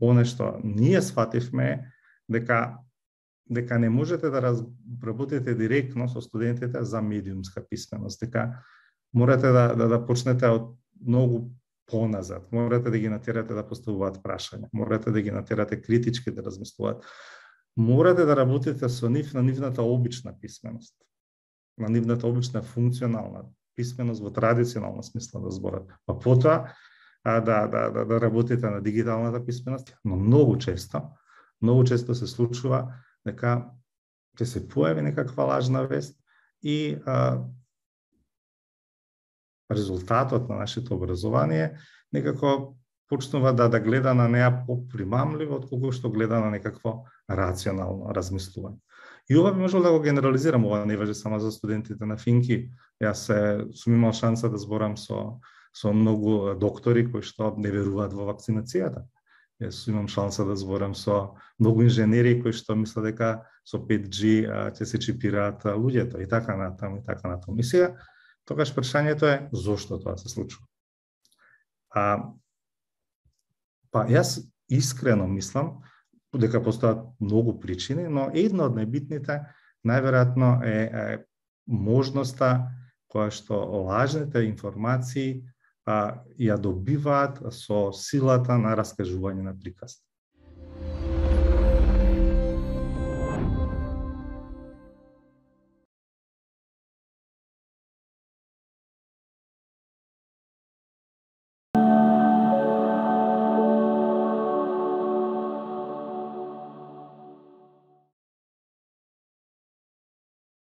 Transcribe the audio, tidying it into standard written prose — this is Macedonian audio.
оне што ние сфативме дека не можете да работите директно со студентите за медиумска писменост, дека морате да почнете од многу поназад, морате да ги натерате да поставуваат прашања, морате да ги натерате критички да размислуваат, морате да работите со нив на нивната обична писменост, на нивната обична функционална писменост во традиционална смисла на зборот. Па потоа да работите на дигиталната писменост, но многу често се случува дека ќе се појави некаква лажна вест и резултатот на нашето образование некако почнува да гледа на неа попримамливо отколку што гледа на некакво рационално размислување. И ова би можел да го генерализирам, ова не важи само за студентите на Финки. Јас сум имал шанса да зборам со многу доктори кои што не веруваат во вакцинацијата. Јас имам шанса да зборам со многу инженери кои што мислат дека со 5G ќе се чипираат луѓето и така натаму. И сега, тогаш прашањето е зошто тоа се случува. Па јас искрено мислам дека постојат многу причини, но една од најбитните најверојатно е можноста која што лажните информации ја добиваат со силата на раскажување на приказ.